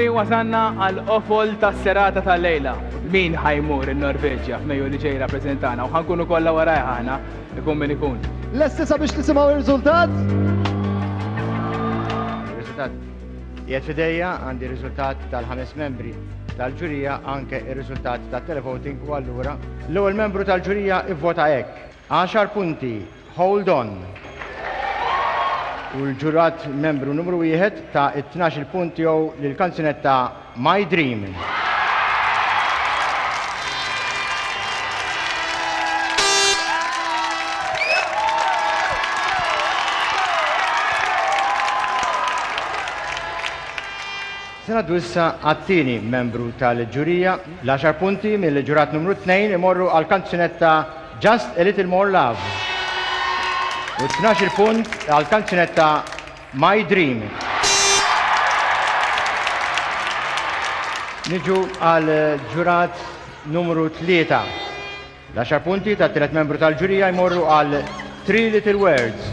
Sinjuri, wasalna għal qofol tas-serata tal-lejla. Min ħa jmur in-Norveġja f'Mejju li ġej rappreżentana u ħa nkunu kollha warajh aħna, ikun min ikun. Lesti sabiex nisimgħu r-riżultat? Ir-riżultat qiegħed f'idejja, għandi r-riżultat tal-ħames membri tal-ġurija anke r-riżultat tat-televoting u allura l-ewwel membru tal-ġurija ivvota hekk. Għaxar punti, Hold On. U l-ġurat membru numru wieħed ta t-tnax-il punt tiegħu lill-kanzunetta My Dream. Se ngħaddu issa għat-tieni membru tal-ġurija. L-għaxar punti mill-ġurat numru tnejn imorru għall-kanzunetta Just a Little More Love. U t-tnax-il punt għall-kanzunetta My Dream. Niġu għal ġurat numru 3. L-għaxar punti tat-tielet membru tal-ġurija jmorru għal Three Little Words.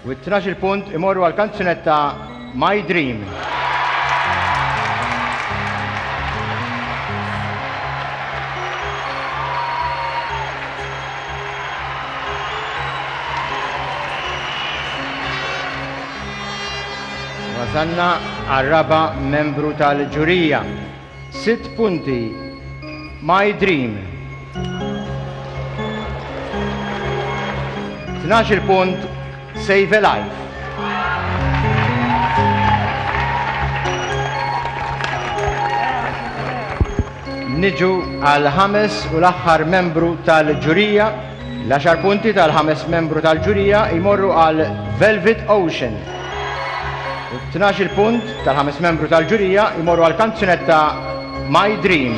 U t-tnax-il punt imorru għall-kanzunetta My Dream. Wasalna għar-raba' membru tal-ġurija. Sitt punti. My Dream. 12 punt Save a Life. Niġu għal ħames u l-aħħar membru tal-ġurija. L-għaxar punti tal-ħames membru tal-ġurija jmorru għal Velvet Ocean. U t-tnax-il punt tal-ħames membru tal-ġurija jmorru għall-kanzunetta My Dream.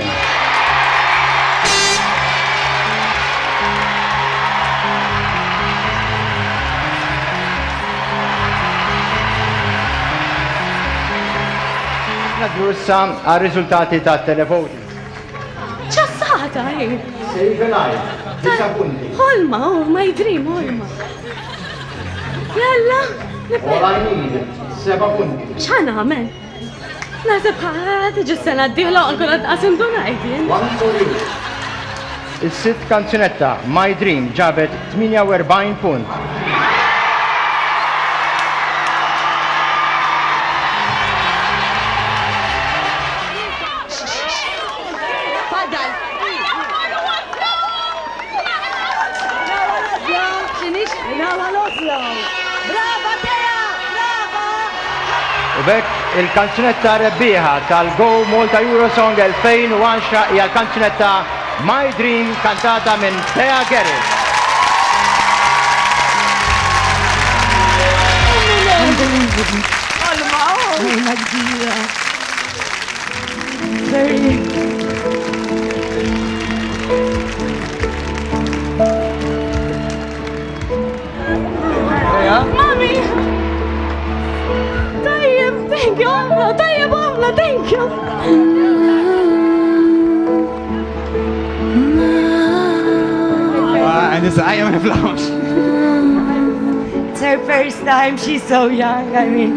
Naddu issa għar-riżultati tat-televoting. Ċassata, hi. Save a life, disa' punti. Ħolma, oh, my dream, ħolma. Jalla. All I need, seba' punti. X'ħa nagħmel? Naħseb ħa tiġi s-sena d-dieħla u nkun għad qas indunajt jien. One for you. Is-sitt kanzunetta, My Dream, ġabet 48 punt. U b'hekk il-kanzunetta rebbieħa tal-Go Malta Eurosong 2010 hija l-kanzunetta My Dream kantata minn Thea Garrett. Unbelievable. Ħolma kbira. Very. Mami! Tajjeb, thank you, ħafna, tajjeb ħafna, thank you. Għandi saqajja ma niflaħx. It's her first time, she's so young, I mean.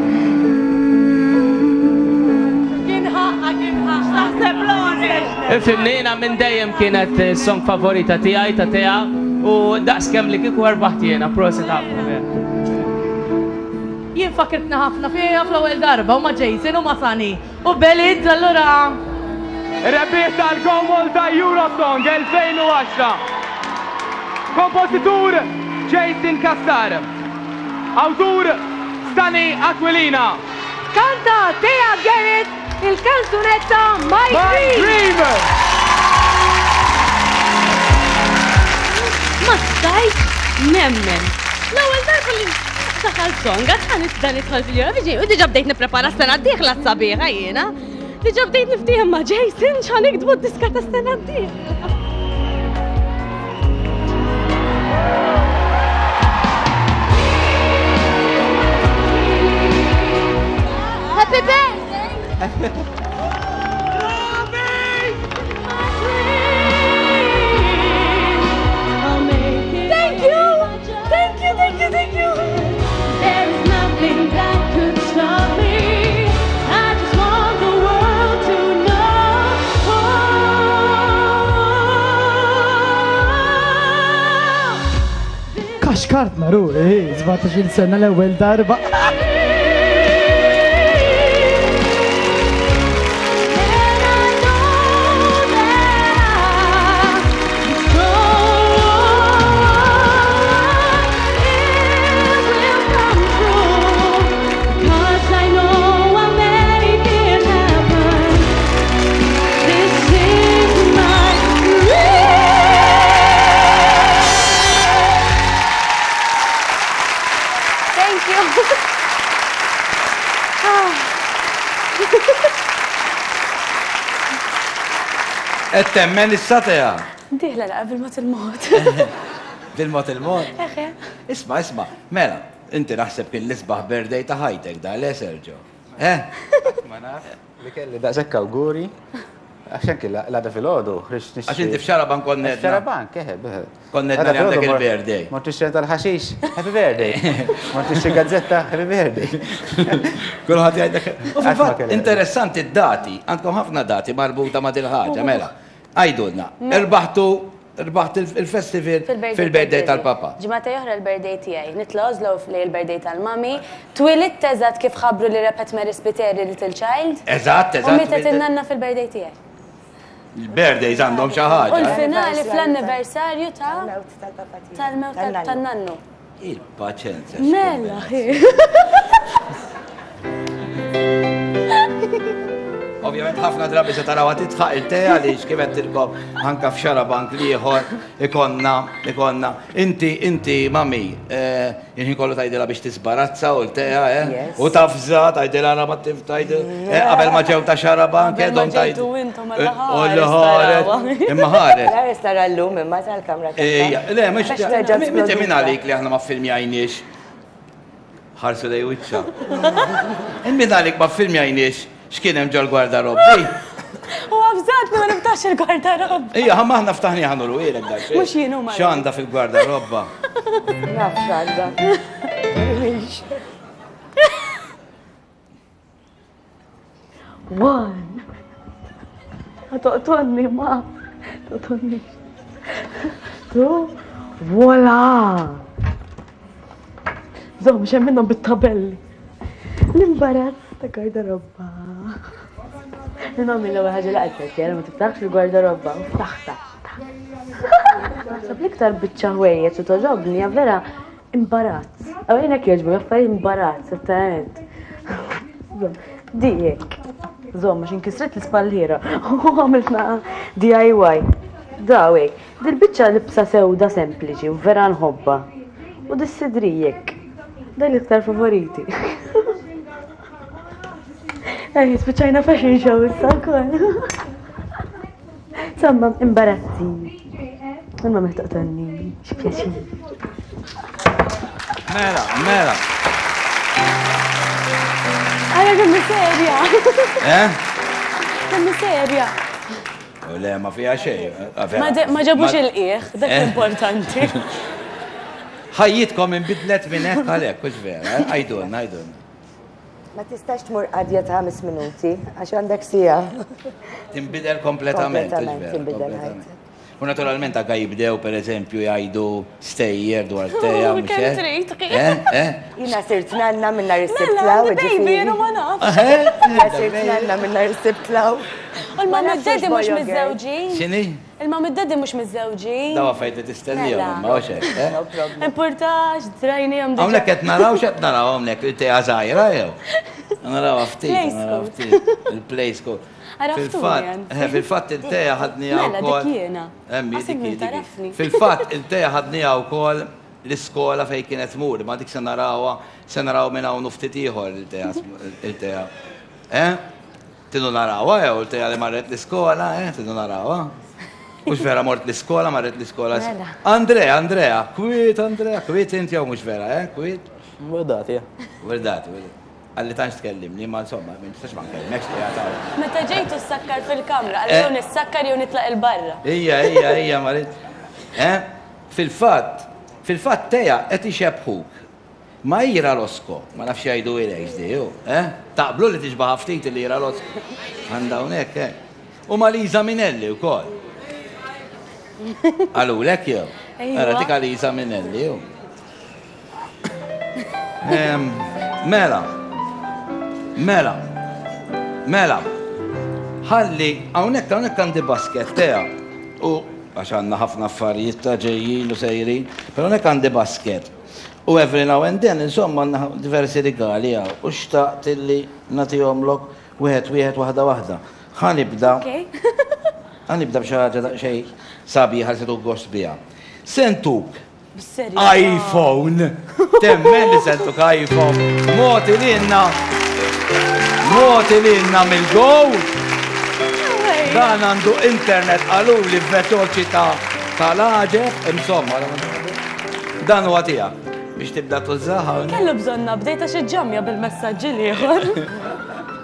Kien ħaqqa, kien ħaqqa. Taħseb Lauren. Ifhimni, jiena minn dejjem kienet song favorita tiegħi ta' Tea u daqs kemm li kieku rbaħt jiena, prosit ħafna. Jien fakirtni ħafna fiha fl-ewwel darba u ma' Jason u ma' Sunny u Belid allura. Rebbieħ tal-Go Malta Eurosong 2010. Kompożitur Jason Cassar. Awtur Sunny Aquilina. Kanta Thea Garrett il-kanzunetta My My Dream. Dream! Ma stajtx nemmen. L-ewwel darba li daħal song, għad ħa nibda nidħol fil-Eurovision u diġà bdejt nipprepara s-sena d-dieħla s-sabiħa jiena. Diġà bdejt niftiehem ma' Jason x'ħa niktbu d-diska tas-sena d-dieħla. Happy birthday! Thank you! Thank you, thank you, thank you! There is nothing that could stop me. I just Tkaxkartna ruħi, 17-il sena l-ewwel darba. Thank you. Qed temmen issa Tea? Dieħla la bil-mod il-mod. Bil-mod il-mod? Eħe. Isma' isma' mela, inti naħseb kien l-isbaħ birthday ta' ħajtek da, le Sergio? Eh? Ma naf li kelli daqshekk awguri. Għax anki l-għada filgħodu ħriġt nixtri. Għax inti f'Xarabank kont ngħedna. F'Xarabank, eħe, eħe. Kont ngħedna li għandek il-birthday. Mort nixtri tal-ħaxix, happy birthday. Mort nixtri gazzetta, happy birthday. Kulħadd jgħidlek. U fil-fatt, interessanti d-dati, għandkom ħafna dati marbuta ma' dil-ħaġa, mela. Għidulna, irbaħtu Rbaħt il-festival fil-birthday tal-papa. Ġimgħatej oħra l-birthday tiegħi. Nitla' Oslo lejn il-birthday tal-mami. Twilidt eżatt kif ħabbru li rebħet Mary Spiteri Little Child. Eżatt, eżatt. U mietet in-nanna fil-birthday tiegħi. Il-birthdays għandhom xi ħaġa. U l-finali fl-anniversarju ta' tal-mewt tan-nannu. Il-paċenzja. Mela, hi. Ovvjament ħafna drabi se tarawha titħaq il-te għaliex kif għedtilkom anka f'xarabank l-ieħor ikonna ikonna. Inti inti mami, eh, il-ħin kollu tgħidilha biex tisbarazza u l-tea, eh? U tafża tgħidilha ara ma tgħidil eh, qabel ma ġew ta' xarabank, eh, dom tgħid. Ħares. Imma ħares. Ħares tara llum imma tal-kamra. Ejja, le, mhux Inti min għalik li aħna ma ffilmjajniex. Ħarsu lej wiċċa. Min għalik ma ffilmjajniex x'kien hemm ġol-gwardarobbi. U għafżatni ma niftax il-gwardarobba. Ejja, ħa aħna ftaħni ħa nuru ilek dak. Mhux jien huma. X'għandha fil-gwardarobba? Naf x'għandha. One. Toqtonni ma. Toqtonni. Tu. Voila. Zom, xem minnhom bit-tabelli. L-imbarazz ta' gardarobba. Il-mammi l-ewwel ħaġa li qaltlet li ma tiftaħx il-gardarobba u ftaħta. Naħseb l-iktar biċċa ħwejjeġ u toġobni hija vera Imbarazz. Għaw jien hekk jogħġbu affarijiet imbarazz, ettament. Di hekk. Żomm għax inkisret l-ispalliera u għamiltna DIY. Daw hekk. Dil-biċċa libsa sewda sempliċi u vera nħobbha. U dis-sidri hekk. Dan l-iktar favoriti. Ej, spiċċajna fashion show issa wkoll. Insomma, imbarazzi. Imma ma toqtolni, x'pjaċir. Mela, mela. Għara kemm serja. Eh? Kemm serja. U le, ma fija xejn. Ma ġabux il-qieħ, dak eh? importanti. Ħajjitkom inbidlet minn hekk għalhekk, hux vera, eh? Għidulna, għidulna. Ma tistax tmur qadja ta' ħames minuti, għax għandek siegħa. Tinbidel kompletament. Kompletament tinbidel ħajtek. U naturalment anka jibdew per eżempju jgħidu stejjer dwar teja. Oh, kemm trid. Eh, eh? Jiena sirt nanna minn nhar is-Sibt Mela, law, għandi baby, jiena ma nafx. Eh? Jiena sirt nanna minn nhar is-Sibt law. U l-mamma u d-daddy mhux miżżewġin. X'inhi? Il-mum u d-daddy mhux miżżewġin. Daw affarijiet li tistennihom Mela. imma hux hekk, eh? No problem. Importax, drajnihom diġà. Hawnhekk qed naraw x'qed naraw hawnhekk il-tea żgħira jew? Narawha ftit, Play naraw school. ftit. Il-play school. Għaraftuni, Fil-fatt, anzi. eh, fil-fatt il-tea ħadniha Mela, dik wkoll. jiena. Emmi, Għasik dik hi, min dik hi. tarafni. Fil-fatt il-tea ħadniha wkoll l-iskola fejn kienet tmur, ma dik se narawha, se naraw minn hawn u ftit ieħor il-tea, il-tea. Eh? Tridu narawha jew il-tejja li marret l-iskola, eh? Tridu narawha? Mhux vera mort l-iskola, marret l-iskola. Mela. Andrea, Andrea, kwiet Andrea, kwiet inti jew mhux vera, eh? Kwiet? Werdati, eh. Werdati, werdati. Għalli tantx tkellimni, ma insomma, ma nistax ma nkellmekx li għataw. Meta ġejtu ssakkar fil-kamra, għalli Eh. jew nissakkar jew nitlaq il-barra. Ija, ija, ija, marit. Eh? Fil-fatt, fil-fatt teja qed ixebbħuk Ma Ira Losco, ma nafx jgħiduhilekx di, hu, eh? Taqblu li tixbaha ftit lil Ira Losco? Għandha hawnhekk, eh? U ma' Liza Minnelli wkoll. Qalulek jew? Ejwa. Ara dik Liza Minnelli, hu. Mela, mela, mela, ħalli, hawnhekk hawnhekk għandi basket Tea, u għax għandna ħafna affarijiet ta' ġejjin u sejrin, però hawnhekk għandi basket. U every now and then, insomma, għandna diversi rigali hawn, u xtaqt illi nagħtihomlok wieħed wieħed waħda waħda. Ħa nibda. Ħa nibda b'xi ħaġa daqsxejn sabiħa li se tieħu gost biha. Se ntuk iPhone. Temmen li se ntuk iPhone. Mogħti lilna mogħti lilna mill-Go. Dan għandu internet qaluli b'veloċità tal-għaġeb, insomma, dan huwa tiegħek biex tibda tużah hawnhekk. Kellu bżonn update għax iġġammja bil-messaġġi l-ieħor.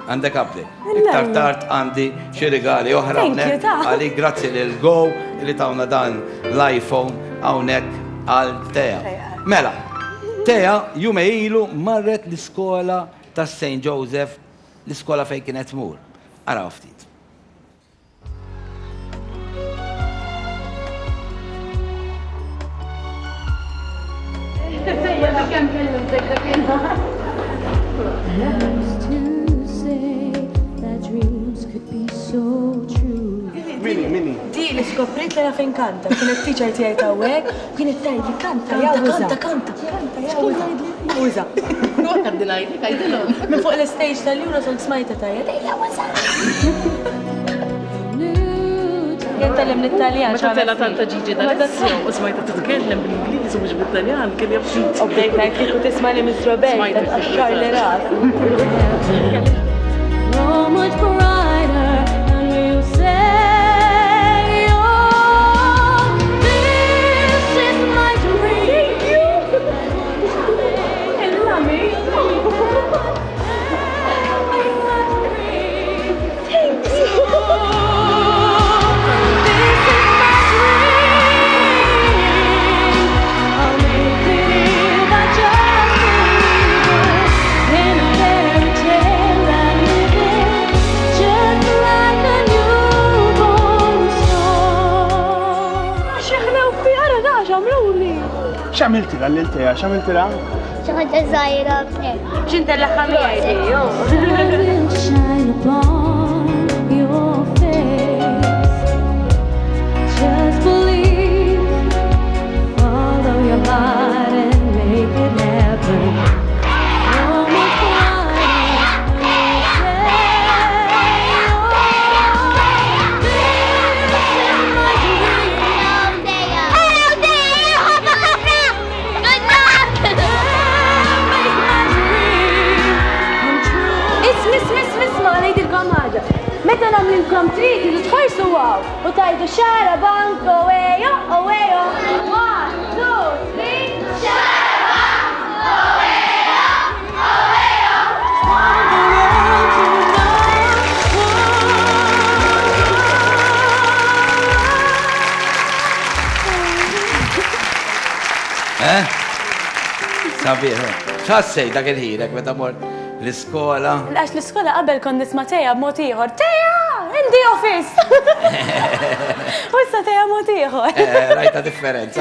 Għandek update. Iktar tard għandi xi rigali oħra hawnhekk għalik grazzi lil Go li tawna dan l-iPhone hawnhekk għal Tea. Mela, Tea jumej ilu marret l-iskola ta' St. Joseph, l-iskola fejn kienet tmur. Araw ftit. Mini, mini. Di li skoprejt li naf inkanta, kienet teacher tiegħi ta' hekk, kienet tgħidli kanta, kanta, kanta, kanta, kanta, uża. Minn fuq l-istage tal-Eurosong smajta tajja, tgħidli uża. Jien tgħallimt l-Italjan. Meta tela' tanta Gigi D'Alessio u smajtha titkellem bl-Ingliż u mhux bit-Taljan kien jaf xi. U bdejt ngħid kieku tismagħni Miss Roberta tqaxxarli rasi. X'għamiltilha lil Tea? X'għamiltilha? Xi ħaġa żgħira. X'intellagħha miegħi Isma, isma, isma, isma, ngħidilkom ħaġa. Meta nagħmlilkom trid tridu tħarsu hawn u tgħidu xarabank owejo owejo. One, two, three, xarabank owejo owejo. Eh? Sabiħ. X'ħassejt dak il-ħin meta mort l-iskola? Għax l-iskola qabel kont nisma' Teja b'mod ieħor. Teja! In the office! U issa Teja mod ieħor. Eh, rajta differenza.